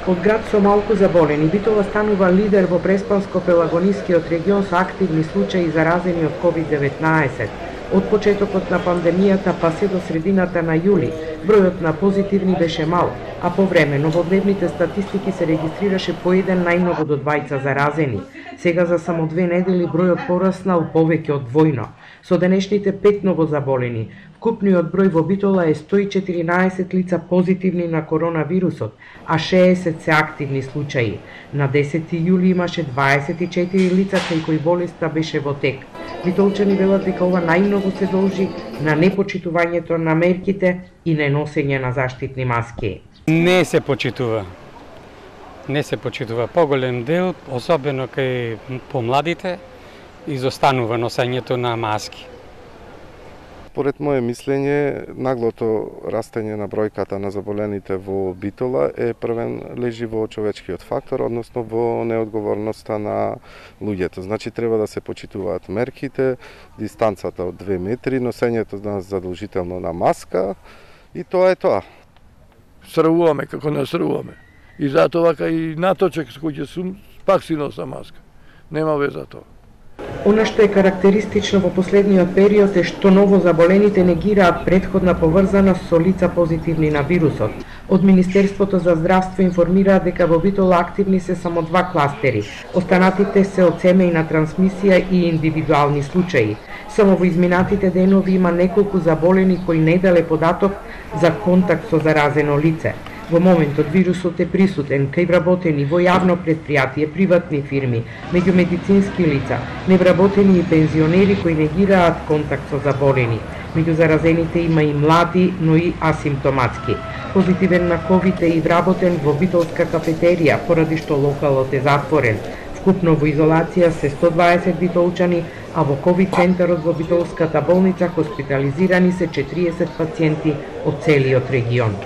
Од град со малку заболени, Битола станува лидер во Преспанско-Пелагонискиот регион со активни случаи заразени од COVID-19. Од почетокот на пандемијата па се до средината на јули, бројот на позитивни беше мал, а по време новодневните статистики се регистрираше по еден најмногу до 2 заразени. Сега за само 2 недели бројот пораснал повеќе од двојно. Со денешните 5 новозаболени, вкупниот број во Битола е 114 лица позитивни на коронавирусот, а 60 се активни случаи. На 10 јули имаше 24 лица кај кои болеста беше во тек. Битолчани велат дека ова најмногу се должи на непочитувањето на мерките и неносење на заштитни маски. Не се почитува. Не се почитува. Поголем дел, особено кај помладите, изостанува носењето на маски. Според моје мислење, наглото растење на бројката на заболените во Битола е првен лежи во човечкиот фактор, односно во неодговорноста на луѓето. Значи треба да се почитуваат мерките, дистанцата од 2 метри, носењето на задолжително на маска и тоа е тоа. Срвуваме како не срвуваме. И затоа кај наточек со кој ќе сум, пак си носа маска. Нема веза тоа. Она што е карактеристично во последниот период е што новозаболените негираат претходна поврзаност со лица позитивни на вирусот. Од Министерството за здравство информираат дека во Битола активни се само 2 кластери. Останатите се од семејна трансмисија и индивидуални случаи. Само во изминатите денови има неколку заболени кои не дале податок за контакт со заразено лице. Во моментот вирусот е присутен кај вработени во јавно претпријатие, приватни фирми, меѓу медицински лица, невработени и пензионери кои негираат контакт со заболени. Меѓу заразените има и млади, но и асимптоматски. Позитивен на ковид е и вработен во битолска кафетерија, поради што локалот е затворен. Вкупно во изолација се 120 битолчани, а во ковид центарот во битолската болница хоспитализирани се 40 пациенти од целиот регион.